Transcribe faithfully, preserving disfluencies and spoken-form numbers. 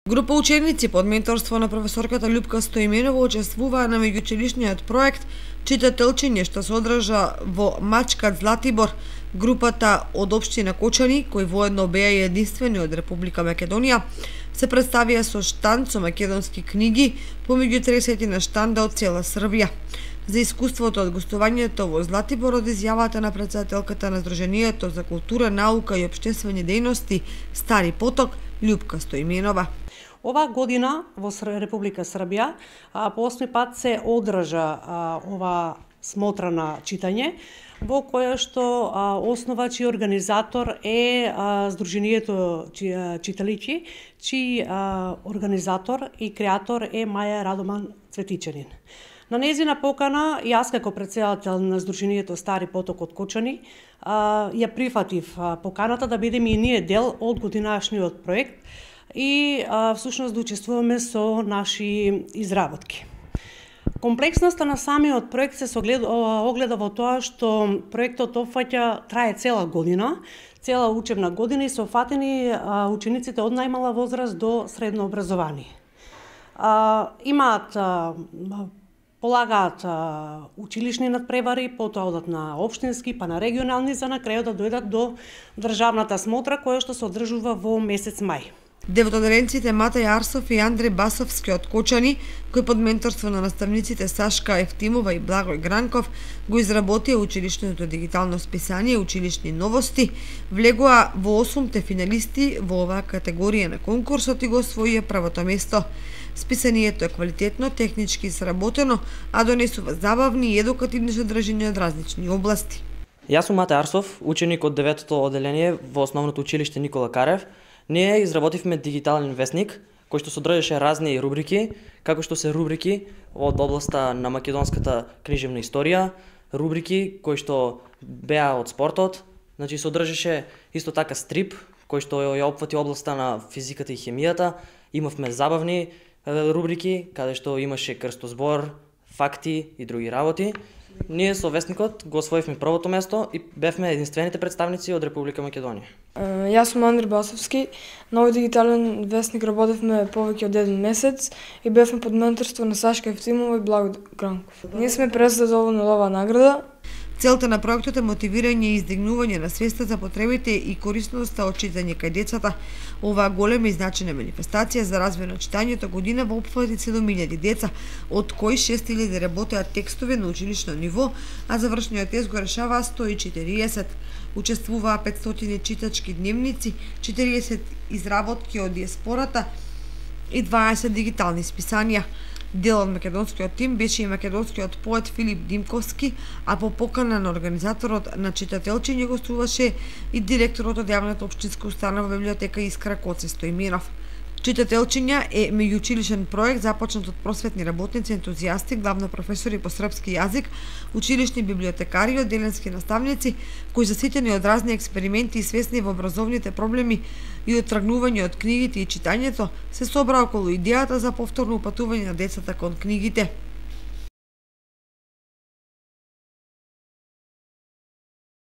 Група ученици под менторство на професорката Љупка Стоименова учествуваа на меѓуучилишниот проект Читателчиње, што се одржа во Мачкат, Златибор. Групата од општина Кочани, кои воедно беа единствени од Република Македонија, се представија со штанд со македонски книги помеѓу тридесет штанда од цела Србија. За искуството од гостувањето во Златибор од изјавата на претседателката на Сдруженијето за култура, наука и општествени дејности Стари Поток, Љупка Стоименова. Ова година во Република Србија по осми пат се одржа ова смотра на читање, во која што основач и организатор е Сдруженијето читаличи, чиј организатор и креатор е Маја Радоман Цветичанин. На нејзина покана, јас како претседател на Сдруженијето Стари Поток од Кочани, ја прифатив поканата да бидеме и ние дел од годинашниот проект и всушност да учествуваме со наши изработки. Комплексноста на самиот проект се огледа во тоа што проектот опфаќа, трае цела година, цела учебна година и се опфатени учениците од најмала возраст до средно образование. Имаат полагаат училишни надпревари, потоа одат на општински, па на регионални, за на крајот да дојдат до државната смотра која што се одржува во месец мај. Деветоделенците Матај Арсов и Андреј Басовски од Кочани, кои под менторство на наставниците Сашка Ефтимова и Благој Гранков го изработија училишното дигитално списание Училишни новости, влегоа во осумте финалисти во оваа категорија на конкурсот и го освоија првото место. Списанието е квалитетно, технички сработено, а донесува забавни и едукативни содржини од различни области. Јас сум Матај Арсов, ученик од деветото оделение во Основното училиште Никола Карев. Ние изработивме дигитален весник, кој што содржеше разни рубрики, како што се рубрики од областа на македонската книжевна историја, рубрики кои што беа од спортот, значи содржеше исто така стрип, кој што ја опфати областа на физиката и хемијата, имавме забавни рубрики, каде што имаше крстозбор, факти и други работи. Ние со весникот го освоивме првото место и бевме единствените представници од Република Македонија. Јас сум Андреј Басовски. На овој дигитален весник работевме повеќе од еден месец и бевме под менторство на Сашка Ефтимова и Благој Гранков. Ние сме презадоволни од оваа награда. Целта на проектот е мотивирање и издигнување на свеста за потребите и корисноста од читање кај децата. Оваа голема и значајна манифестација за развој на читањето година во опфати седум илјади деца, од кои шест илјади работеат текстови на училишно ниво, а завршниот тест го решаваа сто и четириесет. Учествуваа петстотини читачки дневници, четириесет изработки од диаспората и дваесет дигитални списанија. Дел од македонскиот тим беше и македонскиот поет Филип Димковски, а по покана на организаторот на Читателчиње гостуваше и директорот од јавната општинска установа библиотека Искра Коце Стоименов. Читателчиња е меѓуучилишен проект започнат од просветни работници, ентузијасти, главно професори по српски јазик, училишни библиотекари и одделенски наставници, кои заситени од разни експерименти и свесни во образовните проблеми и од тргнување од книгите и читањето, се собраа околу идејата за повторно упатување на децата кон книгите.